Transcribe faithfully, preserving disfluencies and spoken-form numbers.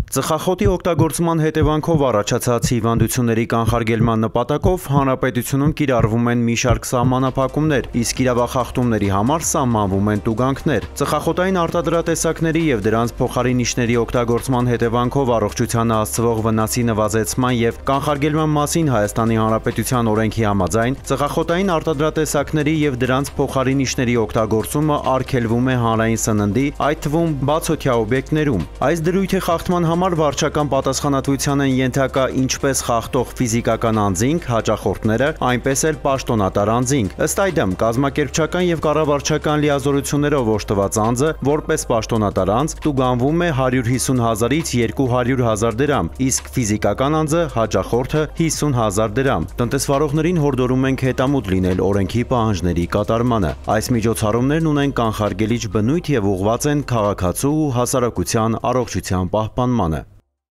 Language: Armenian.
Ծխախոտի օգտագործման հետևանքով առաջացած հիվանդությունների կանխարգելման նպատակով հանրապետությունում կիրառվում են մի շարք սահմանափակումներ, իսկ իրավախախտումների համար սահմանվում են տուգանքներ։ Ծխախոտային արտադրատեսակների և դրանց փոխարինիչների օգտագործման հետևանքով առողջությանը հասցվող վնասի նվազեցման և կանխարգելման մասին Հայաստանի Հանրապետության օրենքի համաձայն ծխախոտային արտադրատեսակների և դրանց փոխարինիչների օգտագործումը արգելվում է հանրային սննդի, այդ թվում բացօթյա օբյեկտներում։ Այս դրույթի խախտման համար վարչական պատասխանատվության են ենթակա ինչպես խախտող ֆիզիկական անձինք, հաճախորդները, այնպես էլ պաշտոնատար անձինք։ Ըստ այդմ, կազմակերպչական և կառավարչական լիազորություններով օժտված անձը, որպես պաշտոնատար անձ, տուգանվում է հարյուր հիսուն հազարից երկու հարյուր հազար դրամ, իսկ ֆիզիկական անձը, հաճախորդը հիսուն հազար դրամ։ Տնտեսվարողներին հորդորում ենք հետամուտ լինել օրենքի պահանջների կատարմանը։ Այս միջոցառումներն ունեն կանխարգելիչ բնույթ և ուղղված են քաղաքացու ու հասարակության առողջության պահպանմանը։